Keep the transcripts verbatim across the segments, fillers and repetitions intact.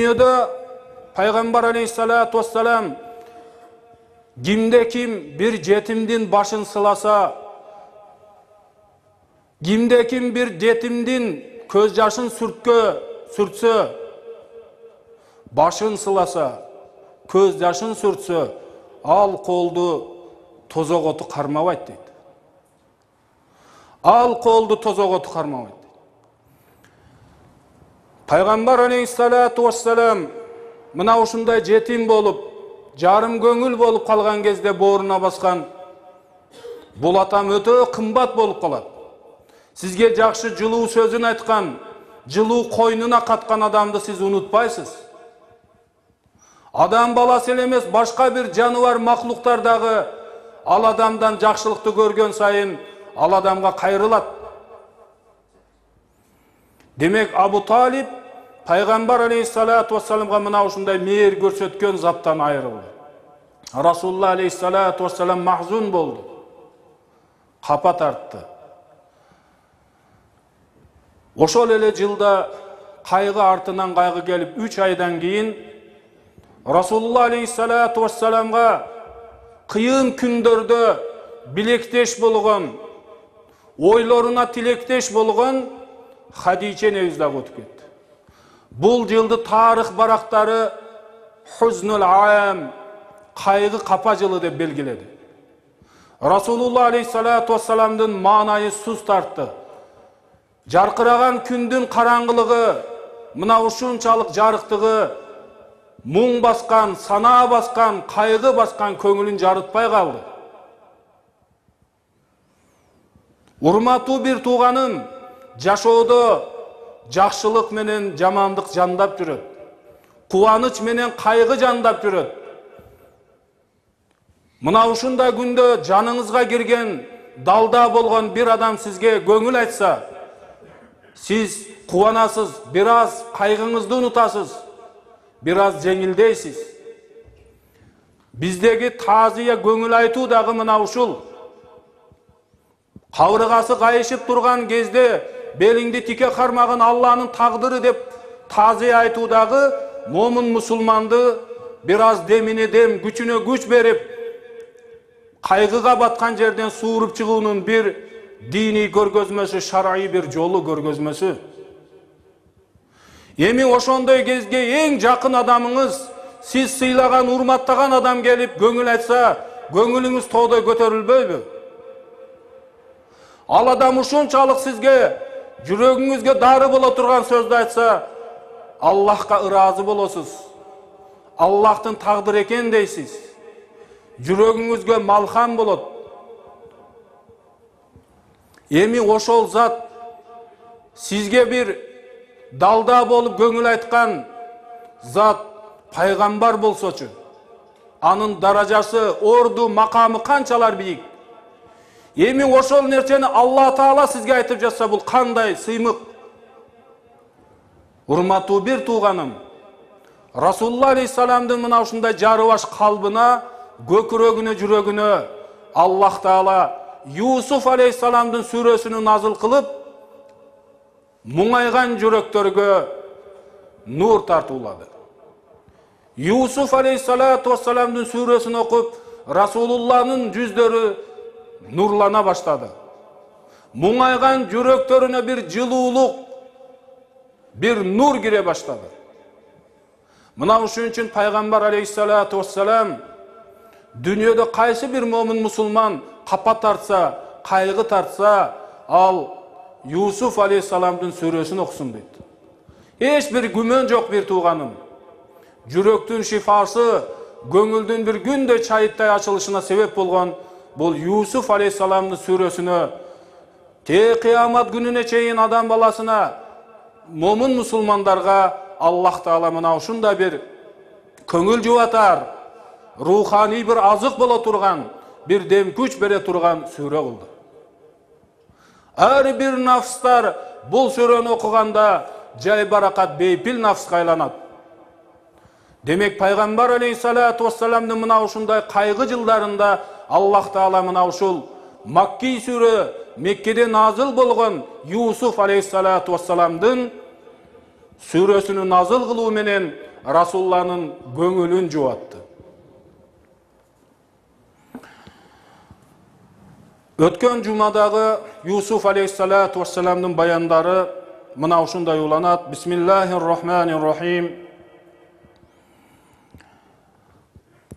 Dünyada Peygamber aleyhissalatu vesselam kimde kim bir yetimdin başın sılasa, kimde kim bir yetimdin köz yaşın sürtkö, sürtse, başın sılasa, köz yaşın sürtse, al koldu tozok otu karmabayt deydi. Al koldu tozok otu karmabayt deydi. Peygamber aleyhissalatu vesselam mına uşunday jetim bolup, jarım көңүл bolup kalgan кезде booruna baskan bul atam ötө kımbat bolup kalat. Sizge jakşı жылуу sözün aytkan, жылуу koynuna katkan adamды siz unutpaysız. Adam balası ele emес, başka bir janыбар mahluklardagы al adamdan jakşılıkты көрgөн сайын al adamga kayrılat. Demek Abu Talib Peygamber aleyhissalatu vesselamga mına uşunday meer görсөткөн zattan ayrıldı. Rasulullah aleyhissalatu vesselam mahzun boldu. Kapa tarttı. Oşol ele жылda kaygı артынан kaygı gelip üç aydan keyin Rasulullah aleyhissalatu vesselamga kıyın kündörde bilekteş bolgan, oylarına tilekteş bolgan Hadice nevizdag ötüp ketti. Bul жылды tarih barakları Huznul Am, kaygı kapa жылы dep belgiledi. Rasulullah aleyhissalatu vesselamdın manayı sus tarttı. Jarkıragan kündün karangılığı, mına uşunçalık jarıktığı, muң baskan, sana baskan, kaygı baskan köңүлүн jarıtpay kaldı. Urmаттуу bir tuğanım, жашоодо жакшылык менен жамандык жандап жүрөт. Кубаныч менен кайгы жандап жүрөт. Мына ушундай күндө жаныңызга кирген, далда болгон bir адам сизге көңүл айтса, siz кубанасыз, бир аз кайгыңызды унутасыз, бир аз жеңилдейсиз. Биздеги таазия көңүл айтуу дагы мына ушул. Кабыргасы кайышып турган кезде belingdi tike karmagın Allah'ın taqdırı dep taziye aytuudagı momun musulmandı biraz demine dem, güçüne güç berip kaygıga batkan жерден suurup чыгуунун bir dini görgözmösü, şar'î bir jolu görgözmösü. Эми ошондой кезге эң жакын adamыңыз, siz sıylagan, urmattagan adam gelip көңүл айтса, көңүлүңүз тоодой көтөрүлбөйбү? Al adam ушунчалык sizge жүрөгүңүзгө дары боло турган сөздү айтса, Аллахка ыраазы болосуз. Аллахтын тагдыр экен дейсиз. Жүрөгүңүзгө малхам болот. Эми ошол зат сизге bir далда болуп көңүл айткан зат пайгамбар болсочу, анын даражасы, орду, макамы канчалар бийик. Эми ошол нерсени Алла Таала сизге айтып жатса, бул кандай сыймык. Урматтуу bir тууганым, Rasulullah aleyhissalamдын мына ушундай жарыбаш калбына, көкүрөгүнө, жүрөгүнө Аллах Таала Юсуф aleyhissalamдын сүрөсүнү назыл кылып, муңайган жүрөктөргө нур тартуулады. Юсуф aleyhissalatu vesselamдын сүрөсүн окуп, Расулуллахнын жүздөрү nurlana başladı. Muңайgan жүрөктөрүнө bir жылуулук, bir nur gire başladı. Mına uşun üçün Peygamber aleyhissalatu vesselam dünyada kaysı bir momin musulman kapa tartsa, kaygı tartsa, al Yusuf aleyhissalamdın sürösünü okusun deydi. Hiç bir gümön yok bir tuğanım. Жүрөктүн şifası, göңүлдүн bir günde çayıttay açılışına sebep bolgan bol Yusuf aleyhissalamdın sürösünü te kıyamat gününe çeyin adam balasına, momin musulmandarga Allah Taala mına uşunda bir köngül juvatar, ruhani bir azık bola turgan, bir dem güç bere turgan sürö kıldı. Her bir nafslar bul sürönü okuganda jay barakat beypil nafs kaylanat. Demek Peygamber aleyhissalatu vesselam'nın mına uşunday kaygı жылдарында Allah Taala mına uşul Makki sürö Mekke'de nazıl bolgan Yusuf aleyhissalatu vesselam'dın sürösünü nazıl kılуу menen Расулулланын көңүлүн жубатты. Өткөн жумадагы Юсуф алейхиссалату вассаламдын баяндары мына ушундай уланат. Бисмиллахир-рахманир-рахим.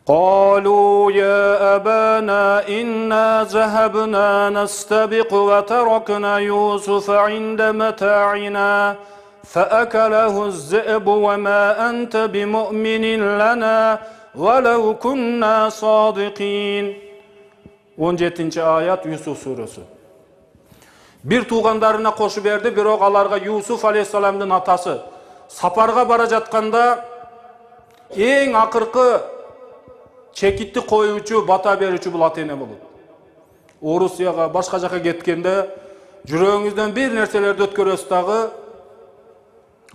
قالوا يا أبانا إنا ذهبنا نستبق وتركنا يوسف عند متاعنا فأكله الذئب وما أنت بمؤمن لنا ولو كنا صادقين. он жетинчи аят Юсуф сүрөсү. Бир туугандарына кошуп берди, бирок аларга Юсуф алейхиссаламдын атасы сапарга бара жатканда эң акыркы чекитти коюучу, бата берүүчү бул ата-эне болот. Орусияга, башка жака кеткенде жүрөгүңүздөн бир нерселерди өткөрөсүз дагы,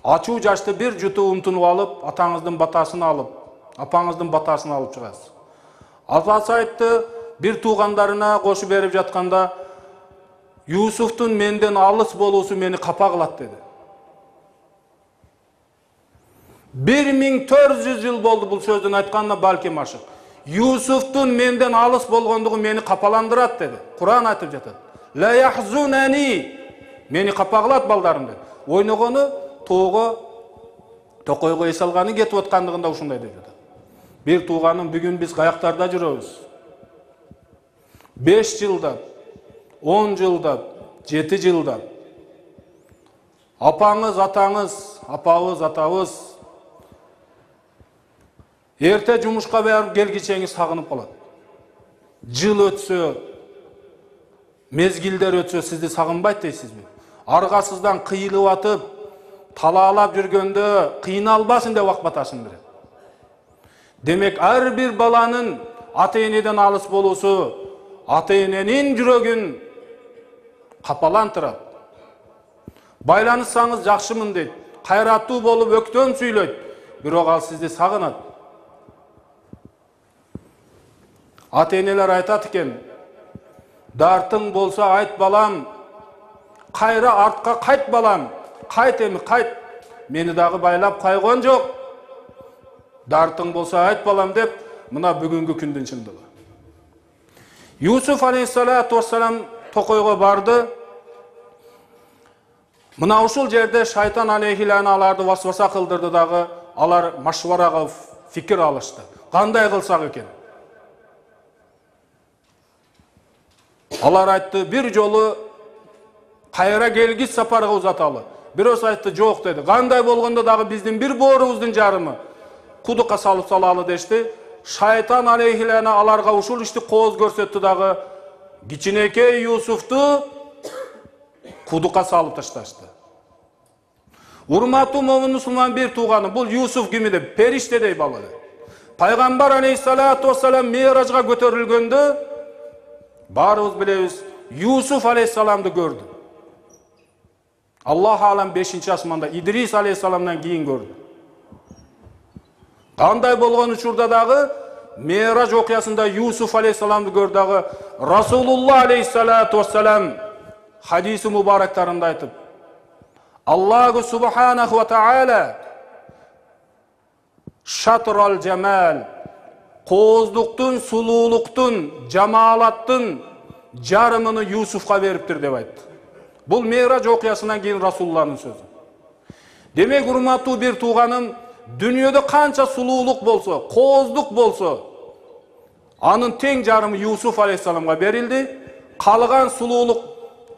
ачуу жашты бир жуту умтунуп алып, атаңыздын батасын алып, апаңыздын батасын алып чыгасыз. Атасы айтты, бир туугандарына кошуп берип жатканда, Юсуфтун менден алыс болуусу мени капа кылат деди. бир миң төрт жүз жыл болду бул сөздүн айтканына, балким ашык. Юсуфтун менден алыс болгондугу мени капаландырат деди. Куран айтып жатат. Ла яхзунани, мени капа кылат балдарым деди. Ойногону тоого, токойго эс алганы кетип аткандыгында ушундай деп жатат. Бир тууганым, бүгүн биз каяктарда жүрөбүз? беш жылдап, он жылдап, жети жылдап. Апаңыз, атаңыз, апабыз, атабыз эрте жумушка барып келгичеңиз сагынып калат. Жыл өтсө, мезгилдер өтсө сизди сагынбайт дейсизби? Аргасыздан кыйылып атып, талаалап жүргөндө кыйналбасын деп ак батасын берет. Демек, ар бир баланын ата-энеден алыс болуусу ата-эненин жүрөгүн капалантырат. Байланышсаңыз жакшымын дейт, кайраттуу болуп өктөн сүйлөйт, бирок ал сизди сагынат. Ата-энелер айтат экен, дартың болсо айт балам, кайра артка кайт балам, кайт эми кайт, мени дагы байлап койгон жок. Дартың болсо айт балам деп, мына бүгүнкү күндүн чындыгы. Юсуф алейхиссалату вассалам токойго барды. Мына ушул жерде шайтан алейхилана аларды васваса кылдырды дагы, алар машварага фикир алышты. Кандай кылсак экен? Алар айтты, бир жолу кайра келгис сапарга узаталы. Бирөөсү айтты, жок деди. Кандай болгондо дагы биздин бир боорубуздун жарымы кудукка салып салалы дешти. Шайтан алейхилана аларга ушул ишти кооз көрсөттү дагы, кичинекей Юсуфту кудукка салып ташташты. Урматтуу момун мусулман бир тууганы, бул Юсуф ким эди? Периштедей бала. Пайгамбар алейхиссалату вассалам Миражга көтөрүлгөндө баарыбыз билебиз, Юсуф алейхиссаламды көрдү. Аллах алам бешинчи асманда Идрис алейхиссаламдан кийин көрдү. Кандай болгон учурда дагы Мираж окуясында Юсуф алейхиссаламды көрдү дагы Расулулла алейхиссалату вассалам хадиси мубарактарында айтып, Аллаху субханаху ва таала шатрал жамал, кооздуктун, сулуулуктун, жамаалаттын жарымыны Юсуфка бериптир деп айтты. Бул Мираж окуясынан кийин Расулулланын сөзү. Демек, урматтуу бир тууганым, дүйнөдө канча сулуулук болсо, кооздук болсо, анын тең жарымы Юсуф алейхиссаламга берилди. Калган сулуулук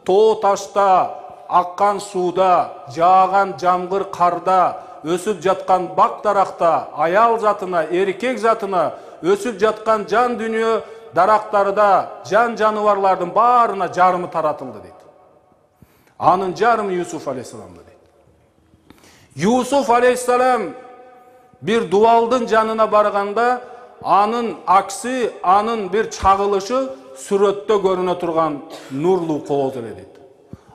тоо ташта, аккан сууда, жааган жамгыр карда, өсүп жаткан бак даракта, аял затына, эркек затына, өсүп жаткан жан дүнүйө дарактарда, жан жаныбарлардын баарына жарымы таратылды дейт. Анын жарымы Юсуф алейхиссаламда дейт. Юсуф алейхиссалам бир дубалдын жанына барганда, анын аксы, анын бир чагылышы сүрөттө көрүнө турган нурлуу кооз эле дейт.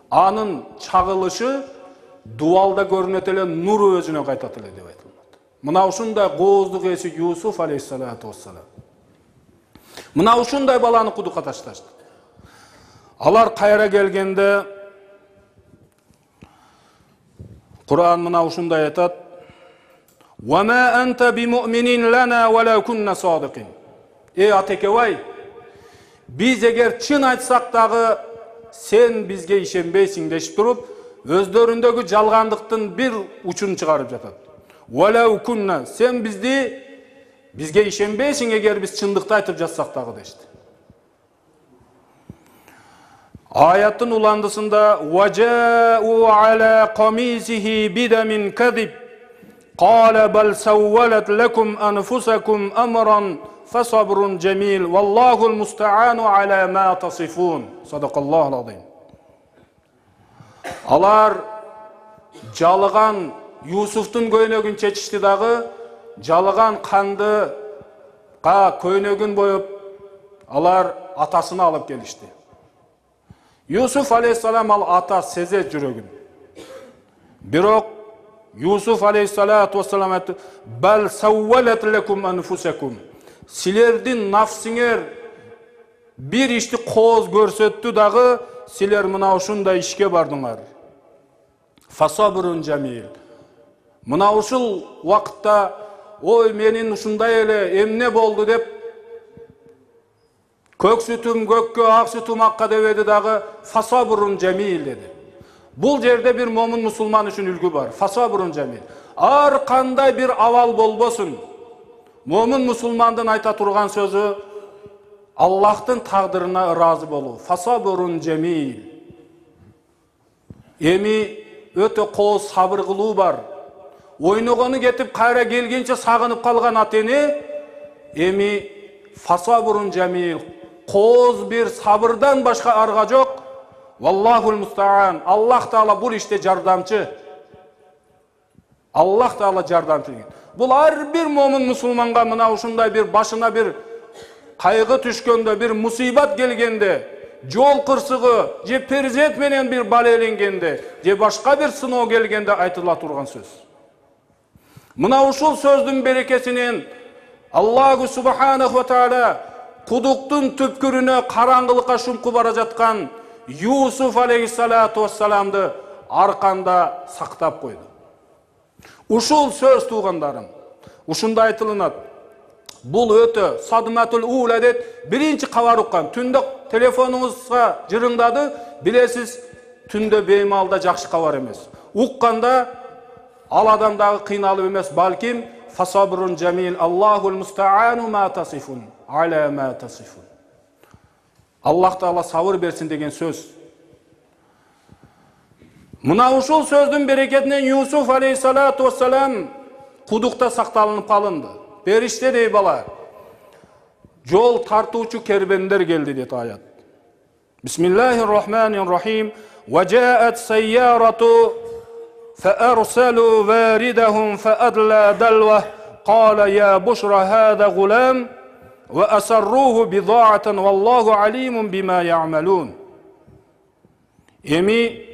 Анын чагылышы дубалда көрүнөт эле, нуру өзүнө кайтат эле деп айтылат. Мына ушундай кооздук эси Юсуф алейхиссалату вассалам. Мына ушундай баланы кудукка ташташты. Алар кайра келгенде Куран мына ушундай айтат: Wa ma anta bimu'minin lana wa la kunna sadiqin. Ey Атекебай, biz eğer çın айтсак дагы sen bizge işenбейсиң дешип туруп, өздөрүндөгү жалгандыктын bir учун чыгарып жатат. Wa la kunna, sen bizdi bizge işenбейсиң eğer biz чындыкты айтып жатсак дагы дешти. Ayatın ulandısında وَجَاءُوا عَلَى قَمِيسِهِ بِدَمٍ كَذِبٍ قَالَ بَلْ سَوَّلَتْ لَكُمْ أَنْفُسَكُمْ أَمْرًا فَصَبْرٌ جَمِيلٌ وَاللّٰهُ الْمُسْتَعَانُ عَلَى مَا تَصِفُونَ. Sadakallahu l-azim. Alar jalıgan Yusuf'tun köynөгүн çeçişti dağı, jalıgan kandı ka köynөгүn boyup alar atasını alıp gelişti. Yusuf aleyhissalam al ata seze жүрөгүн. Бирок Yusuf aleyhissalatu vesselam aytты: "Bal sawwalat lakum anfusakum." Силердин нафсиңер bir ишти кооз көрсөттү дагы, силер мына ушундай ишке бардыңар. Фасабрун жамил. Мына ушул вакытта, ой менин ушундай эле эмне болду деп көк сүтүм көккө, ак сүтүм акка дебеди дагы, фасабрун жамил деди. Бул жерде бир момун мусулман үчүн үлгү бар. Фасабрун жамил. Ар кандай бир авал болбосун, момун мусулмандын айта турган сөзү Аллахтын тагдырына ыраазы болуу. Фасабрун жамил. Эми өтө кооз сабыр кылуу бар. Ойногону кетип кайра келгенче сагынып калган атени эми фасабрун жамил. Кооз бир сабырдан башка арга жок. Валлахул мустаан. Аллах Таала бул иште жардамчы. Аллах Таала жардамчы. Бул ар бир момун мусулманга мына ушундай бир башына бир кайгы түшкөндө, бир мусибат келгенде, жол кырсыгы же перзент менен бир бала эленгенде, же башка бир сыноо келгенде айтыла турган сөз. Мына ушул сөздүн берекесинен Аллаху субханаху ва таала кудуктун түпкүрүнө караңгылыкка шумкуп бара жаткан Yusuf aleyhissalatu vesselamды арканда сактап койду. Ушул сөз туугандарым, ушунда айтылынат. Бул өтө садматул ула дейт, биринчи кабар уккан. Түндө телефонуңузга жырыңдады, билесиз, түндө беймалда жакшы кабар эмес. Укканда ал адам дагы кыйналып эмес, балким фасабрун жамил, Аллахул мустаану ма тасифун, аля ма тасифун. Аллах Таала сабыр берсин деген сөз. Мына ушул сөздүн берекетинен Yusuf алейхиссалату вассалам кудукта сакталынып калынды. Периште дей бала. Жол тартуучу кербендер келди дейт аят. Бисмиллахир-рахманир-рахим. وَجَاءَتْ سَيَّارَةُ فَأَرْسَلُوا وَارِدَهُمْ فَأَدْلَى دَلْوَهُ قَالَ يَا بُشْرَى هَذَا غُلَامٌ وَأَسَرُّوهُ بِضَاعَةً وَاللَّهُ عَلِيمٌ بِمَا يَعْمَلُونَ. Эми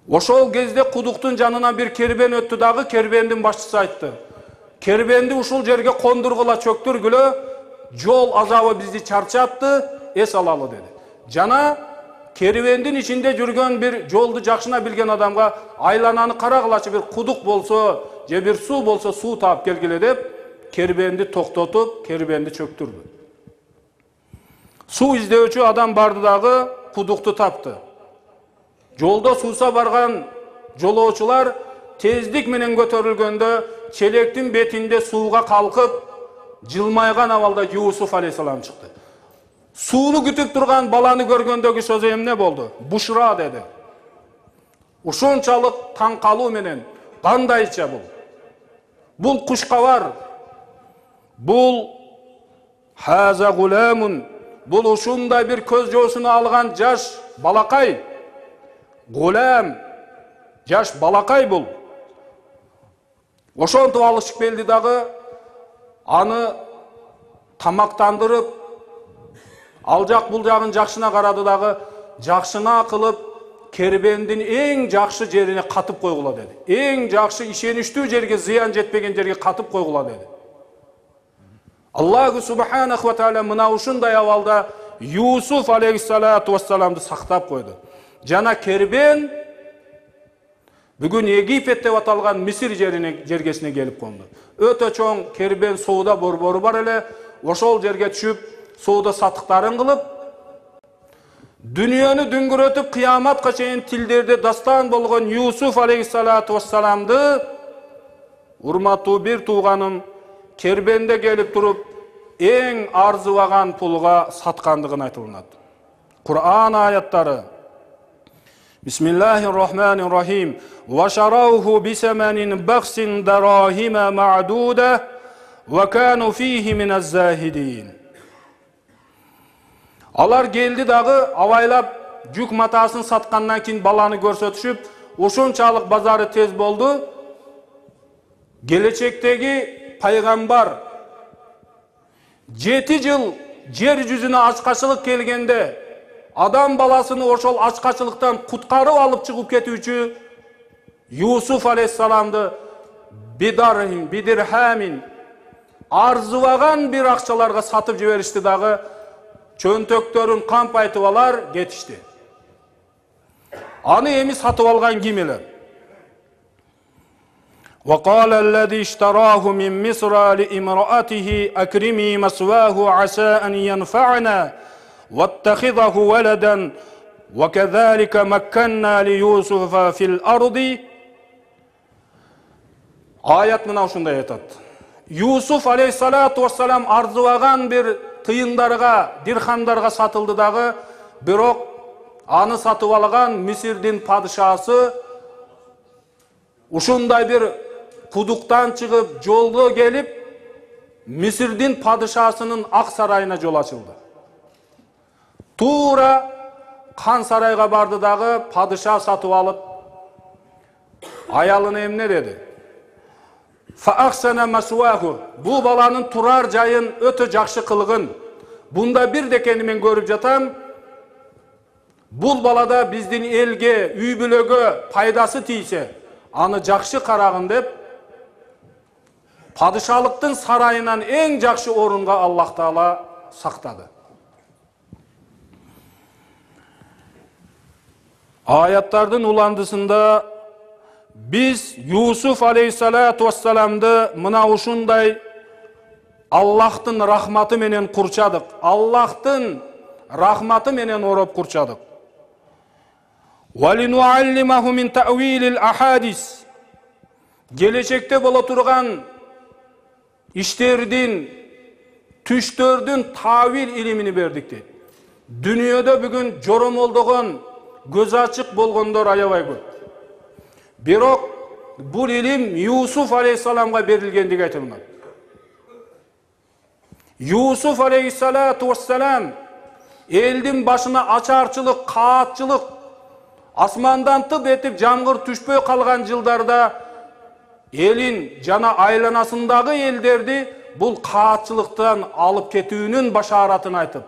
ошол кезде кудуктун жанына бир кербен өттү дагы, кербендин башчысы айтты: "Кербенди ушул жерге кондургула, чөктүргүлө, жол азабы бизди чарчатты, эс алалы" деди. Жана кербендин ичинде жүргөн бир жолду жакшына билген адамга айлананы карагылачы, бир кудук болсо же бир суу болсо суу таап келгиле деп кербенди токтотуп, кербенди чөктүрдү. Суу издөөчү адам барды дагы кудукту тапты. Жолдо сууса барган жолоочулар тездик менен көтөрүлгөндө челектин бетинде сууга калкып, жылмайган абалда Yusuf алейхиссалам чыкты. Сууну күтүп турган баланы көргөндөгү сөзү эмне болду? Бушра деди. Ушунчалык таң калуу менен, кандайча бул? Бул кушкабар. Бул хаза гуламун. Бул ушундай бир көз жоосуна алган жаш балакай. Гулам, жаш балакай бул. Ошонтип алышып келди дагы, аны тамактандырып, ал жак бул жагын жакшына карады дагы, жакшына кылып, кербендин эң жакшы жерине катып койгула деди. Эң жакшы ишеничтүү жерге, зыян жетпеген жерге катып койгула деди. Аллаху субханаху ва таала мына ушундай абалда Yusuf алейхиссалату вассаламды сактап койду. Жана кербен Бүгүн Египет деп аталган Мисир жерине жергесине келип конду. Өтө чоң кербен соода борбору бар эле. Ошол жерге түшүп, соода сатыктарын кылып, дүйнөнү дүңгүрөтүп кыяматка чейин тилдерде дастан болгон Юсуф алейхиссалату вассаламды урматтуу бир тууганым кербенде келип туруп эң арзыбаган пулга саткандыгын айтылат. Кур'ан аяттары: Бисмиллахир-рахманир-рахим. Ва шарауhu бисаманин бахсин дарахима ма'дуда ва кану фихи миназ-захидин. Алар келди дагы абайлап жүк матасын саткандан кийин баланы көрсөтүшүп, ошончалык базары тез болду. Келечектеги пайгамбар жети жыл жер жүзүнө ачкачылык келгенде адам баласыны ошол ачкачылыктан куткарып алып чыгып кетүүчү Юсуф алейхиссаламды бидархим бидирхамин арзыбаган бир акчаларга сатып жиберишти дагы, чөнтөктөрүн кампайтып алар кетишти. Аны эми сатып алган ким эле? وقال الذي اشتراه من مصر لامرأته أكرمي مثواه عسى أن ينفعنا واتخذه ولدا وكذلك مكنا ليوسف في الأرض. Ayat мына ушундай айтат. Юсуф алейхиссалату вассалам арзыбаган бир тыйындарга, дирхамдарга сатылды дагы, бирок аны сатып алган Мисирдин падышасы ушундай бир кудуктан чыгып жолго келип, Мисирдин падышасынын ак сарайына жол ачылды. Туура қан сарайга барды дагы, падыша сатып алып, аялына эмне деди? Фаахсана масуаху. Бу баланын турар жайын өтө жакшы кылгын. Бунда бир декени мен көрүп жатам. Бул балада биздин элге, үй бүлөгө пайдасы тийсе, аны жакшы карагын деп, падышалыктын сарайынан эң жакшы орунга Аллах Таала сактады. Аяттардын уландысында биз Юсуф алейхиссалату вассаламды мына ушундай Аллахтын рахматы менен курчадык. Аллахтын рахматы менен ороп курчадык. Валинуаллимаху мин таъвилил ахадис. Келечекте боло турган иштердин, түштөрдүн тавил илимини бердик дейт. Дүйнөдө бүгүн жоромолдогон, көз ачык болгондор аябай көп. Бирок бул илим Юсуф алейхиссаламга берилгендиги айтылат. Юсуф алейхиссалату вассалам элдин башына ачарчылык, каатчылык, асмандан тып этип жамгыр түшпөй калган жылдарда элин жана айланасындагы элдерди бул каатчылыктан алып кетүүнүн башаратын айтып,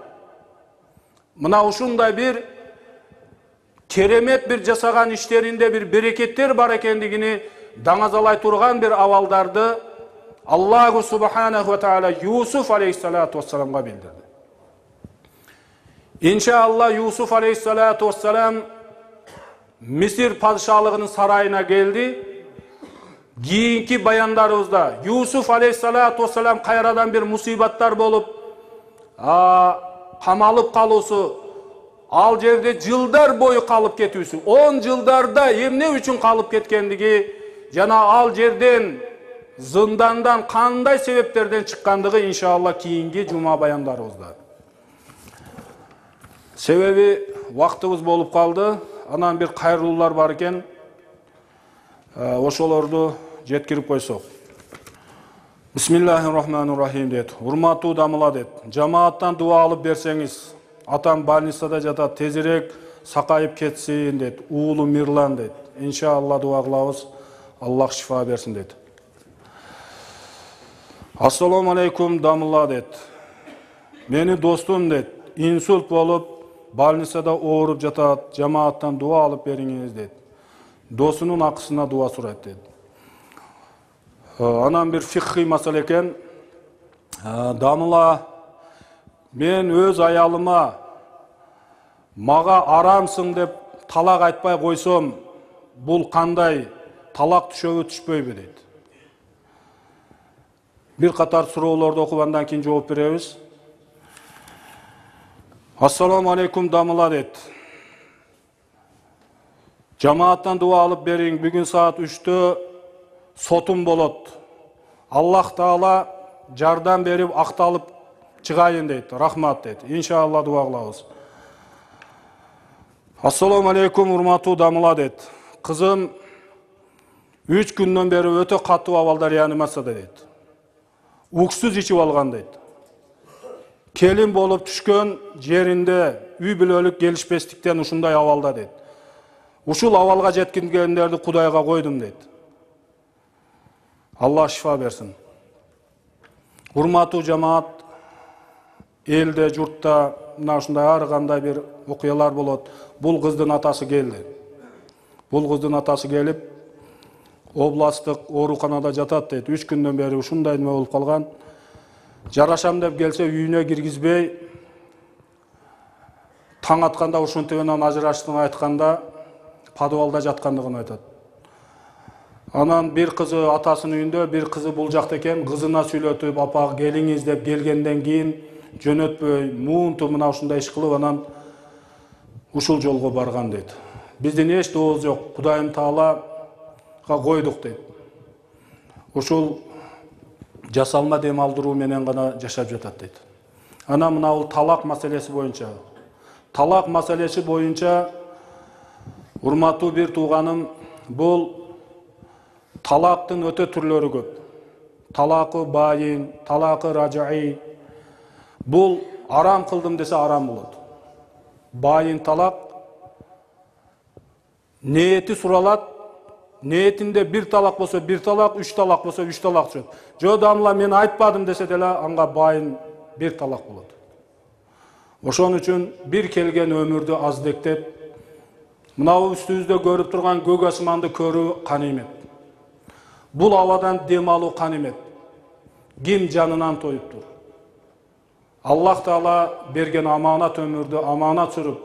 мына ушундай бир керемет бир жасаган иштеринде бир берекеттер бар экендигини даңазалай турган бир абалдарды Аллаху субханаху ва таала Юсуф алейхиссалату вассаламга билдирди. Иншалла Юсуф алейхиссалату вассалам Мисир падышалыгынын сарайына келди. Кийинки баяндарыбызда Юсуф алейхиссалату вассалам кайрадан бир мусибаттар болуп, камалып калуусу, ал жерде жылдар бою калып кетүүсү, он жылдарда эмне үчүн калып кеткендиги жана ал жерден зындандан кандай себептерден чыккандыгы иншалла кийинки жума баяндарыбызда. Себеби вактыбыз болуп калды. Анан бир кайрылуулар бар экен. Ошолорду жеткирип койсок. Бисмиллахир-рахманир-рахим дейт. Урматтуу дамыла дейт. Жамааттан дуа алып берсеңиз, атам больницада жатат, тезирээк сакайып кетсин дейт. Уулу Мирлан дейт. Иншалла дуа кылабыз. Аллах шифа берсин дейт. Ассаламу алейкум дамыла дейт. Мени достум дейт. Инсульт болуп, больницада ооруп жатат. Жамааттан дуа алып бериңиз дейт. Досунун акысына дуа сурайт дейт. Анан бир фикхи маселе экен. Дамыла, мен өз аялыма мага арамсың деп талак айтпай койсом, бул кандай талак түшөбү түшпөйбү дейт. Бир катар суроолорду окуп андан кийин жооп беребиз. Ассаламу алейкум дамыла дейт. Жамааттан дуа алып бериң, бүгүн саат үчтө сотум болот. Аллах Таала жардам берип акталып чыгайын дейт. Рахмат дейт. Иншалла дуа кылабыз. Ассаламу алейкум урматтуу дамыла дейт. Кызым үч күндөн бери өтө катуу абалда реанимацияда дейт. Уксуз ичип алган дейт. Келин болуп түшкөн жеринде үй бүлөлүк келишпестиктен ушундай абалда дейт. Ушул абалга жеткиндерди Кудайга койдум дейт. Алла шифа берсин. Урматтуу жамаат, элде, журтта мына ушундай ар кандай бир окуялар болот. Бул кыздын атасы келди. Бул кыздын атасы келип, областтык ооруканада жатат дейт. үч күндөн бери ушундай неме болуп калган. Жарашам деп келсе үйүнө киргизбей, таң атканда ушунтип менен ажыраштığını айтканда подвалда жаткандыгын айтат. Анан бир кызы атасынын үйүндө, бир кызы бул жакта экен, кызына сүйлөтүп, апа келиңиз деп келгенден кийин жөнөтпөй, муунту мына ушундай иш кылып анан ушул жолго барган дейт. Биздин эч дообуз жок, Кудайым Таалага койдук дейт. Ушул жасалма дем алдыруу менен гана жашап жатат дейт. Анан мына бул талак маселеси боюнча, талак маселеси боюнча урматтуу бир тууганым, бул талактын өтө түрлөрү көп. Талакы байин, талакы ражаи. Бул арам кылдым десе арам болот. Байин талак ниети суралат, ниетинде бир талак болсо бир талак, үч талак болсо үч талак түшөт. Жо дамла мен айтпадым десе деле анга байин бир талак болот. Ошон үчүн бир келген өмүрдү аздектеп, мына үстүбүздө көрүп турган көк асманды көрүү канимет. Бул абадан дем алуу канимет. Ким жанынан тоюптур? Аллах Таала берген аманат өмүрдү аманат сүрүп,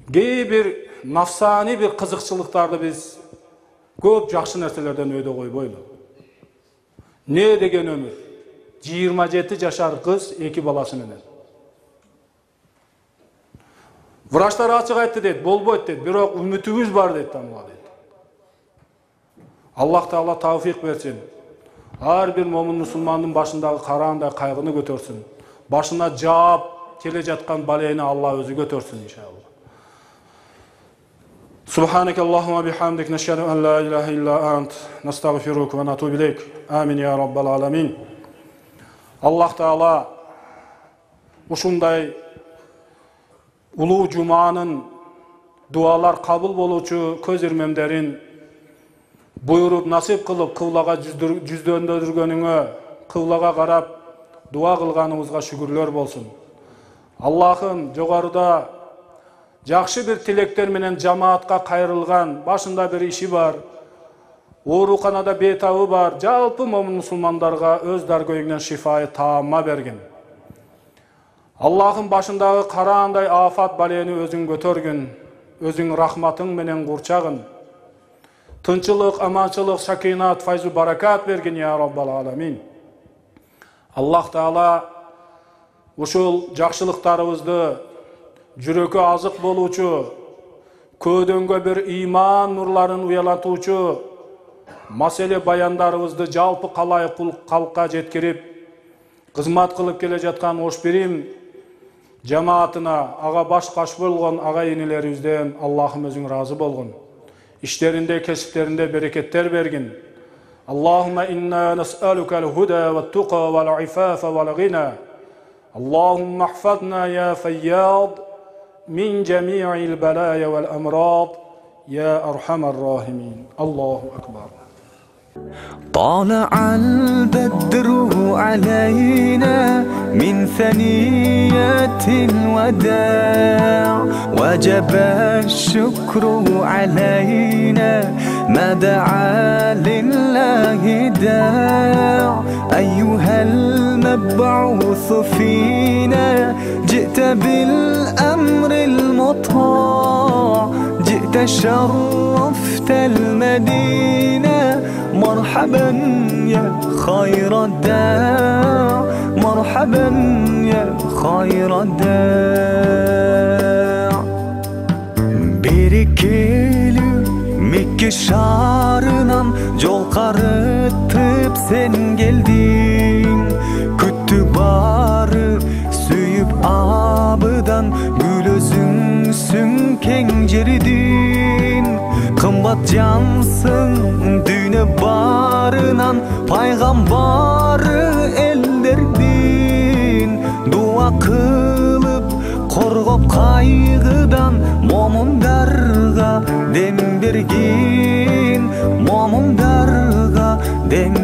кээ бир нафсани бир кызыкчылыктарды биз көп жакшы нерселерден өйдө койбойлу. Не деген өмүр? жыйырма жети жашар кыз эки баласы менен. Врачтар ачык айтты дейт, болбойт дейт, бирок үмүтүбүз бар дейт тамга дейт. Аллах Таала тавфик берсин. Ар бир момун мусулмандын башындагы караандай кайгыны көтөрсүн. Башына жаап келе жаткан балейни Алла өзү көтөрсүн иншалла. Subhaneke Allahumma bihamdik nashhadu an la ilaha illa ant nastaghfiruka wa natubu ilayk. Amin ya rabbal alamin. Alloh Taala ушундай улуу жуманын дуалар кабыл болуучу көз ирмемдерин буйруп насип кылып кыблага жүздөндөргөнүңө, кыблага карап дуа кылганыңызга шүгүрлөр болсун. Аллахым жогоруда жакшы бир тилектер менен жамаатка кайрылган, башында бир иши бар, ооруканада бейтабы бар, жалпы момун мусулмандарга өз даргөйүңнөн шифайы таамма берген. Аллахым башындагы караандай афат балени өзүң көтөргүн, өзүң рахматың менен курчагын. Тынчылык, аманчылык, сакинат, файзу баракат бергин я Раббал аламин. Аллах Таала ушул жакшылыктарыбызды жүрөккө азык болуучу, көөдөнгө бир иман нурларын уялатуучу маселе баяндарыбызды жалпы калай калкка жеткирип, кызмат кылып келе жаткан ош бирим жамаатына, ага баш каш болгон ага инилерибизден Аллахым өзүң разы болгон. İşlerinde, kesiplerinde bereketler vergin. Allahümme inna nes'alukel huda ve tuqa vel ifafa vel gina. Allahümme ahfadna ya feyyad min cemi'il belaya vel emrad ya erhamer rahimin. Allahu Ekber. طالع البدر علينا من ثنيات الوداع وجب الشكر علينا ما دعا لله داع أيها المبعوث فينا جئت بالأمر المطاع جئت شرفت المدينة مرحبا يا خير الداع مرحبا يا خير الداع Berikeli Mekke şarынан жол карытып sen geldin Күттү бары сүйүп абыдан гүл өзүңсүң кең жердин Кымбат жансың дүйнө барынан пайгамбары элдердин Дуа кылып коргоп кайгыдан момундарга дем бергин момундарга дем